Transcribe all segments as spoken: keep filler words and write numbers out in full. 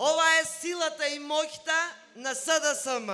Ова е силата и моќта на С Д С М.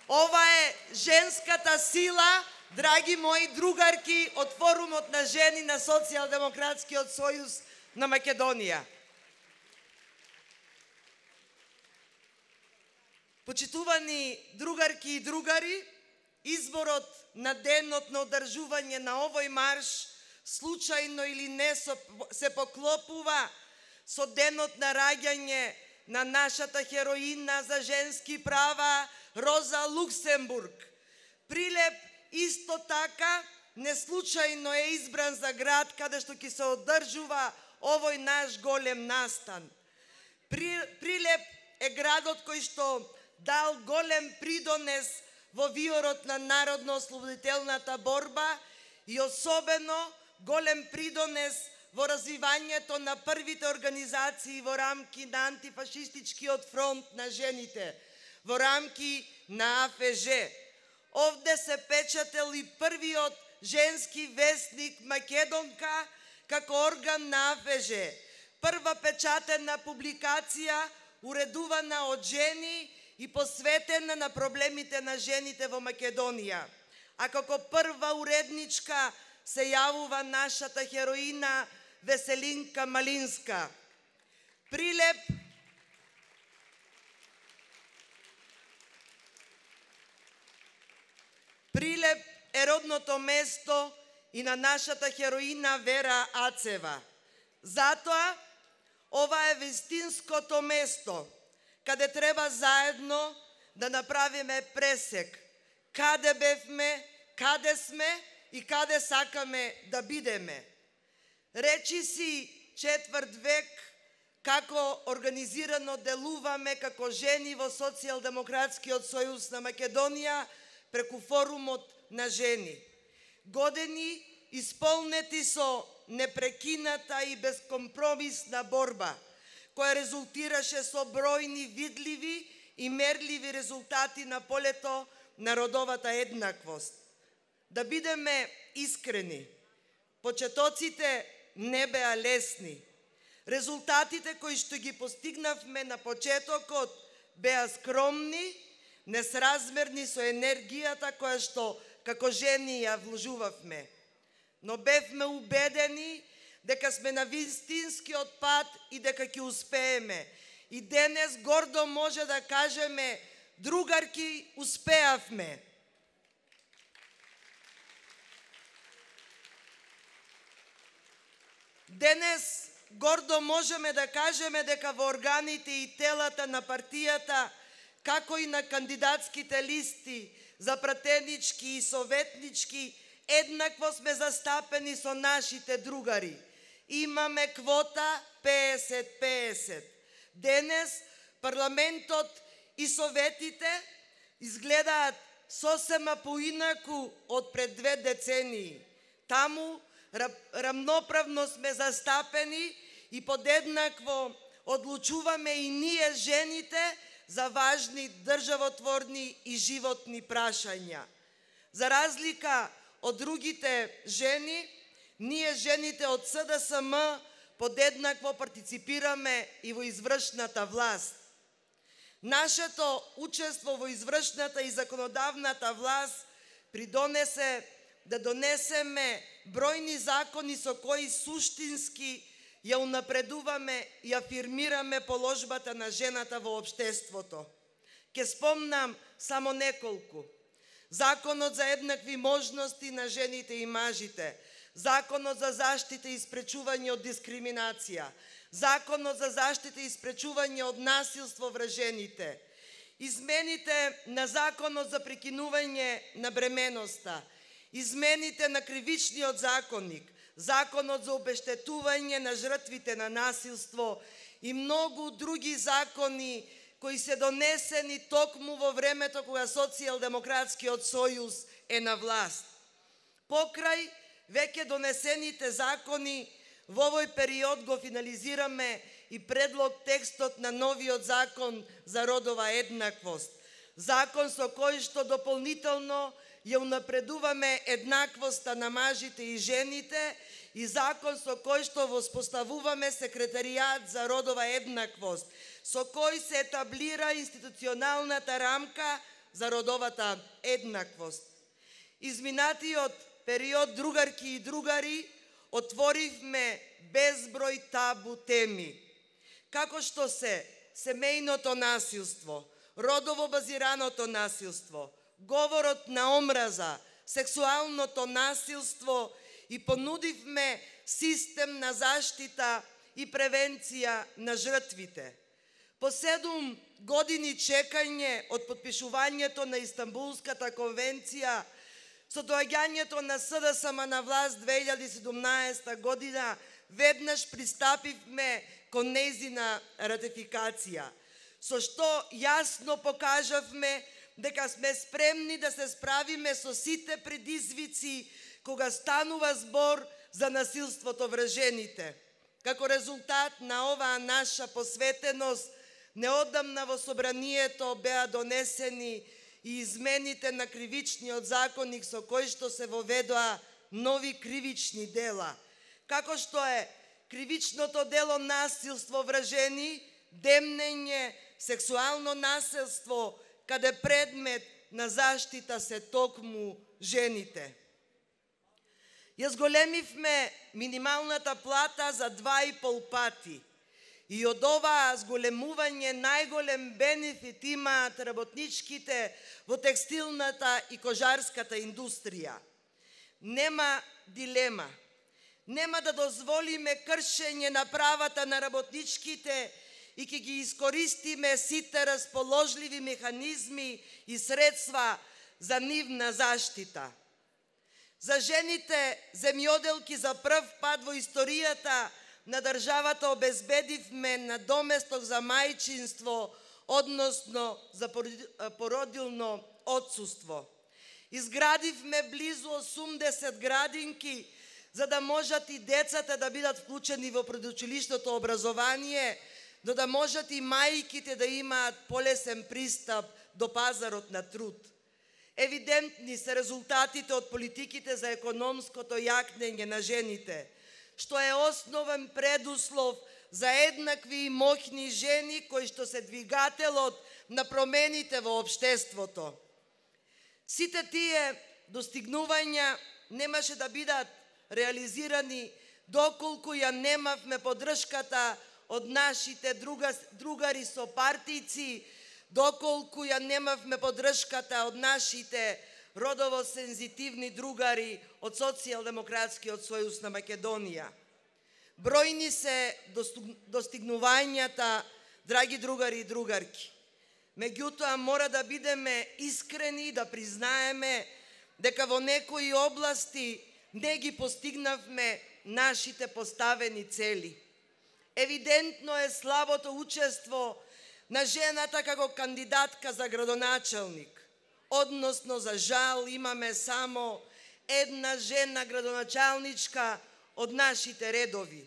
Ова е женската сила, драги мои другарки од Форумот на жени на Социјалдемократскиот сојуз на Македонија. Почитувани другарки и другари, изборот на денот на одржување на овој марш случајно или не се поклопува со денот на раѓање на нашата хероина за женски права Роза Луксембург. Прилеп исто така неслучајно е избран за град каде што ќе се одржува овој наш голем настан. Прилеп е градот кој што дал голем придонес во виорот на народно-ослободителната борба и особено голем придонес во развивањето на првите организации во рамки на антифашистичкиот фронт на жените, во рамки на А Ф Ж. Овде се печател и првиот женски вестник Македонка како орган на А Ф Ж. Прва печатена публикација уредувана од жени и посветена на проблемите на жените во Македонија. А како прва уредничка се јавува нашата хероина Веселинка Малинска. Прилеп Прилеп е родното место и на нашата хероина Вера Ацева. Затоа, ова е вистинското место каде треба заедно да направиме пресек. Каде бевме, каде сме и каде сакаме да бидеме. Речи си четврт век како организирано делуваме како жени во Социјалдемократскиот сојуз на Македонија преку Форумот на жени. Години исполнети со непрекината и безкомпромисна борба, која резултираше со бројни видливи и мерливи резултати на полето на родовата еднаквост. Да бидеме искрени, почетоците не беа лесни. Резултатите кои што ги постигнавме на почетокот беа скромни, несразмерни со енергијата која што како жени ја вложувавме. Но бевме убедени дека сме на вистинскиот пат и дека ќе успееме. И денес гордо може да кажеме, другарки, успеавме. Денес гордо можеме да кажеме дека во органите и телата на партијата, како и на кандидатските листи за пратенички и советнички, еднакво сме застапени со нашите другари. Имаме квота песет песет. Денес парламентот и советите изгледаат сосема поинаку од пред две децении. Таму рамноправно сме застапени и подеднакво одлучуваме и ние жените за важни државотворни и животни прашања. За разлика од другите жени, ние жените од С Д С М подеднакво партиципираме и во извршната власт. Нашето учество во извршната и законодавната власт придонесе да донесеме бројни закони со кои суштински ја унапредуваме и афирмираме положбата на жената во општеството. Ке спомнам само неколку. Законот за еднакви можности на жените и мажите, Законот за заштита и спречување од дискриминација, Законот за заштита и спречување од насилство врз жените, измените на Законот за прекинување на бременоста, измените на Кривичниот законник, Законот за обештетување на жртвите на насилство и многу други закони кои се донесени токму во времето кога Социјалдемократскиот сојуз е на власт. Покрај веќе донесените закони, во овој период го финализираме и предлог текстот на новиот закон за родова еднаквост. Закон со кој што дополнително ја унапредуваме еднаквоста на мажите и жените и закон со кој што воспоставуваме секретаријат за родова еднаквост, со кој се етаблира институционалната рамка за родовата еднаквост. Изминатиот период, другарки и другари, отворивме безброј табу теми, како што се семејното насилство, родово базираното насилство, говорот на омраза, сексуалното насилство и понудивме систем на заштита и превенција на жртвите. По седум години чекање од подпишувањето на Истанбулската конвенција, со доаѓањето на СДСМ на власт две илјади и седумнаесета година, веднаш пристапивме кон нејзина ратификација, со што јасно покажавме дека сме спремни да се справиме со сите предизвици кога станува збор за насилството врз жените. Како резултат на оваа наша посветеност, неодамна во собранието беа донесени и измените на кривичниот законник со кој што се воведоа нови кривични дела, како што е кривичното дело насилство врз жени, демнење, сексуално насилство, каде предмет на заштита се токму жените. Ја зголемивме минималната плата за два и пол пати и од ова зголемување најголем бенефит имаат работничките во текстилната и кожарската индустрија. Нема дилема. Нема да дозволиме кршење на правата на работничките и ќе ги искористиме сите расположливи механизми и средства за нивна заштита. За жените земјоделки за прв пат во историјата на државата обезбедивме надоместок за мајчинство, односно за породилно отсуство. Изградивме близу осумдесет градинки за да можат и децата да бидат вклучени во предучилишното образование, но да можат и мајките да имаат полесен пристап до пазарот на труд. Евидентни се резултатите од политиките за економското јакнење на жените, што е основен предуслов за еднакви и моќни жени кои што се двигателот на промените во општеството. Сите тие достигнувања немаше да бидат реализирани доколку ја немавме поддршката од нашите друга, другари со партици, доколку ја немавме поддршката од нашите родово сензитивни другари од Социјалдемократскиот сојуз на Македонија. Бројни се достигнувањата, драги другари и другарки. Меѓутоа, мора да бидеме искрени и да признаеме дека во некои области не ги постигнавме нашите поставени цели. Евидентно е слабото учество на жената како кандидатка за градоначалник. Односно, за жал, имаме само една жена градоначалничка од нашите редови.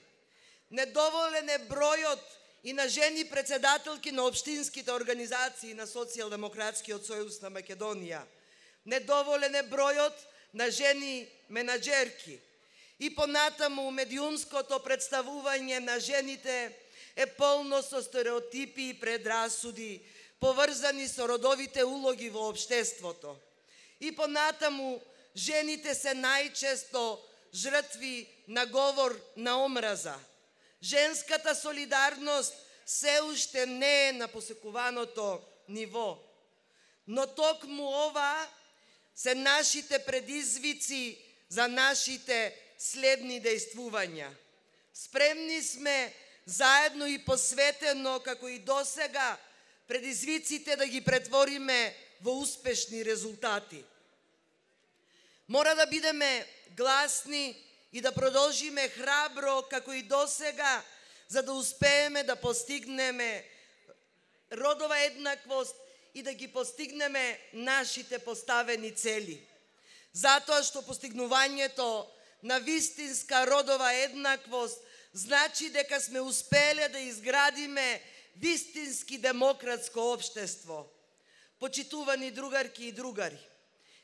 Недоволен е бројот и на жени председателки на општинските организации на Социјалдемократскиот сојуз на Македонија. Недоволен е бројот на жени менаџерки. И понатаму медиумското представување на жените е полно со стереотипи и предрасуди, поврзани со родовите улоги во општеството. И понатаму жените се најчесто жртви на говор на омраза. Женската солидарност се уште не е на посекуваното ниво. Но токму ова се нашите предизвици за нашите следни дејствувања. Спремни сме заедно и посветено, како и досега, предизвиците да ги претвориме во успешни резултати. Мора да бидеме гласни и да продолжиме храбро, како и досега, за да успееме да постигнеме родова еднаквост и да ги постигнеме нашите поставени цели. Затоа што постигнувањето на вистинска родова еднаквост значи дека сме успеле да изградиме вистински демократско општество. Почитувани другарки и другари,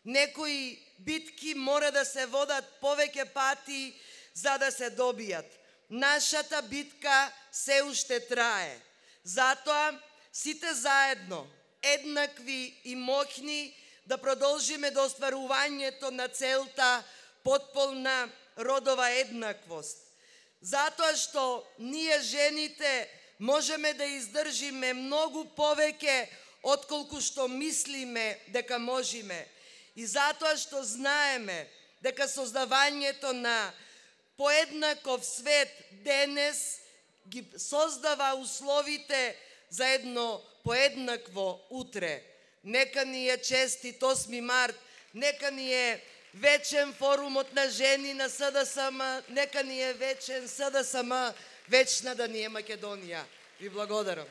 Некои битки мора да се водат повеќе пати за да се добијат. Нашата битка се уште трае. Затоа сите заедно, еднакви и моќни, да продолжиме до остварувањето на целта потполна родова еднаквост. Затоа што ние жените можеме да издржиме многу повеќе отколку што мислиме дека можеме. И затоа што знаеме дека создавањето на поеднаков свет денес ги создава условите за едно поеднакво утре. Нека ни е честит осми март, нека ни е вечен форумот на жени на СДСМ, нека ни е вечен СДСМ, вечна да ни е Македонија. Ви благодарам.